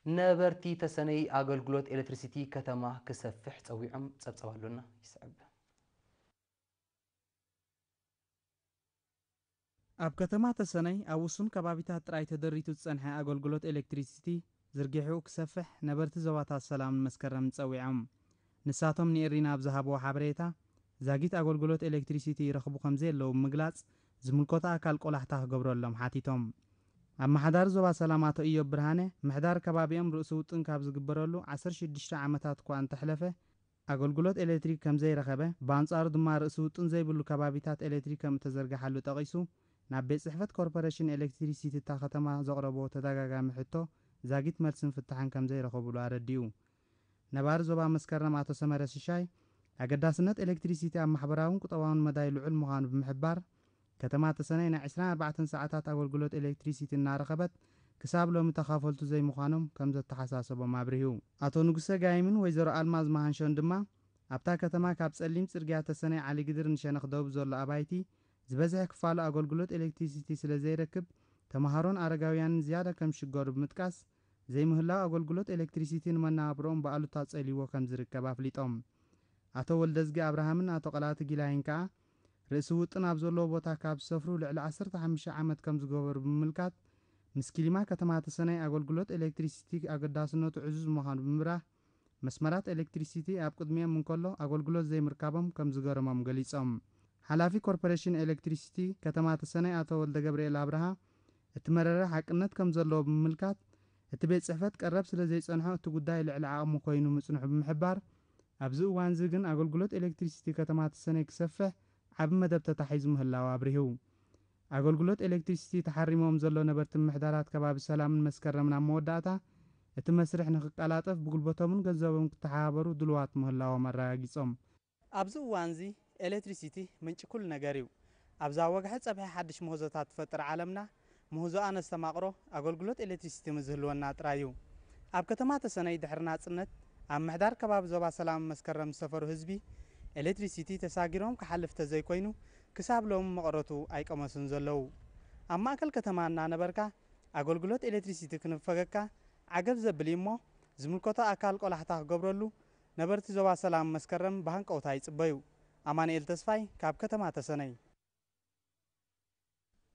ነበርቲ ተሰነይ ኣገልግሎት ኤሌክትሪሲቲ ከተማ ክሰፍሕ ጸዊዖም። ጸብጸብ ኣሎና ይስዕብ። ኣብ ከተማ ተሰነይ ኣብ ውሱን ከባቢታት ጥራይ ተደሪቱ ዝጸንሐ ኣገልግሎት ኤሌክትሪሲቲ ዝርጊሑ ክሰፍሕ ነበርቲ ዞባታት ሰላምን መስከረምን ጸዊዖም። ንሳቶም ንኤሪና ኣብ ዝሃብዎ ሓበሬታ፣ ዛጊት ኣገልግሎት ኤሌክትሪሲቲ ይረኽቡ ከም ዘየለዉ ብምግላጽ፣ ዝምልከቶ ኣካል ቆላሕታ ክገብረሎም ሓቲቶም። ኣመሓዳሪ ዞባ ሰላም ኣቶ ኢዮብ ብርሃነ፣ ምሕዳር ከባቢኦም ርእሲ ውጥን ካብ ዝግበረሉ ዓሰርተ ሽዱሽተ ዓመታት እኳ እንተሕለፈ፣ ኣገልግሎት ኤሌክትሪክ ከም ዘይረኸበ፣ ብኣንጻሩ ድማ ርእሲ ውጥን ዘይብሉ ከባቢታት ኤሌክትሪክ ከም እተዘርግሓሉ ጠቒሱ፣ ናብ ቤት ጽሕፈት ኮርፖሬሽን ኤሌክትሪሲቲ እታ ከተማ ዘቕረቦ ተደጋጋሚ ሕቶ ዛጊት መልስን ፍታሕን ከም ዘይረኸቡሉ ኣረዲኡ። ነባሪ ዞባ መስከረም ኣቶ ሰመረ ሽሻይ፣ ኣገዳስነት ኤሌክትሪሲቲ ኣብ ማሕበራውን ቁጠባውን መዳይ ልዑል ምዃኑ ብምሕባር፣ ከተማ ተሰነይ ናይ ዕስራን ኣርባዕተን ሰዓታት ኣገልግሎት ኤሌክትሪሲቲ እናረኸበት፣ ክሳብ ሎሚ ተኻፈልቱ ዘይምዃኖም ከም ዘተሓሳሰቦም ኣብሪሁ። ኣቶ ንጉሰ ጋይምን ወይዘሮ ኣልማዝ መሃንሾን ድማ፣ ኣብታ ከተማ ካብ ጸሊም ጽርግያ ተሰነይ ዓሊ ግድር ንሸነኽ ደቡብ ዘሎ ኣባይቲ፣ ዝበዝሐ ክፋሉ ኣገልግሎት ኤሌክትሪሲቲ ስለ ዘይረክብ፣ ተመሃሮን ኣረጋውያንን ዝያዳ ከም ዝሽገሩ ብምጥቃስ፣ ዘይምህላው ኣገልግሎት ኤሌክትሪሲቲ ንመነባብሮኦም ብኣሉታ ጸልይዎ ከም ዝርከብ ኣፍሊጦም። ኣቶ ወልደዝጊ ኣብርሃምን ኣቶ ቀላቲ ጊላይን ከኣ፣ ርእሲ ውጥን ኣብ ዘለዎ ቦታ ካብ ዝሰፍሩ ልዕሊ ዓሰርተ ሓሙሽተ ዓመት ከም ዝገበሩ ብምምልካት፣ ምስ ኪሊማ ከተማ ተሰነይ ኣገልግሎት ኤሌክትሪሲቲ ኣገዳስነቱ ዕዙዝ ምዃኑ ብምብራህ፣ መስመራት ኤሌክትሪሲቲ ኣብ ቅድሚኦም እንከሎ ኣገልግሎት ዘይምርካቦም ከም ዝገረሞም ገሊጾም። ሓላፊ ኮርፖሬሽን ኤሌክትሪሲቲ ከተማ ተሰነይ ኣቶ ወልደ ገብርኤል ኣብርሃ፣ እቲ መረረ ሓቅነት ከም ዘለዎ ብምምልካት፣ እቲ ቤት ጽሕፈት ቀረብ ስለ ዘይጸንሖ እቲ ጉዳይ ልዕሊ ዓቕሙ ኮይኑ ምጽንሑ ብምሕባር፣ ኣብዚ እዋንዚ ግን ኣገልግሎት ኤሌክትሪሲቲ ከተማ ተሰነይ ክሰፍሕ ዓቢ መደብ ተታሒዙ ምህላው ኣብሪሁ። ኣገልግሎት ኤሌክትሪሲቲ ተሓሪሞም ዘሎ ነበርቲ ምምሕዳራት ከባቢ ሰላምን መስከረምን ኣብ መወዳእታ፣ እቲ መስርሕ ንኽቀላጠፍ ብጉልበቶምን ገንዘቦምን ክተሓባበሩ ድሉዋት ምህላዎም ኣረጋጊጾም። ኣብዚ እዋንዚ ኤሌክትሪሲቲ ምንጪ ኩሉ ነገር እዩ። ኣብዛ ወግሐ ጸብሐ ሓድሽ ምህዞታት ትፈጥር ዓለምና፣ ምህዞኣ ነስተማቕሮ ኣገልግሎት ኤሌክትሪሲቲ ምዝህልወና ጥራይ እዩ። ኣብ ከተማ ተሰነይ ድሕሪ ናጽነት፣ ኣብ ምሕዳር ከባቢ ዞባ ሰላም መስከረም ዝሰፈሩ ህዝቢ፣ ኤሌክትሪሲቲ ተሳጊሮም ክሓልፍ ተዘይኮይኑ፣ ክሳብ ሎሚ መቐረቱ ኣይቀመሱን ዘለዉ። ኣብ ማእከል ከተማ እናነበርካ፣ ኣገልግሎት ኤሌክትሪሲቲ ክንፈገካ ዓገብ ዘብል እዩ እሞ፣ ዝምልከቶ ኣካል ቆላሕታ ክገብረሉ፣ ነበርቲ ዞባ ሰላም መስከረም ብሃንቀውታ ይጽበዩ። ኣማኑኤል ተስፋይ ካብ ከተማ ተሰነይ።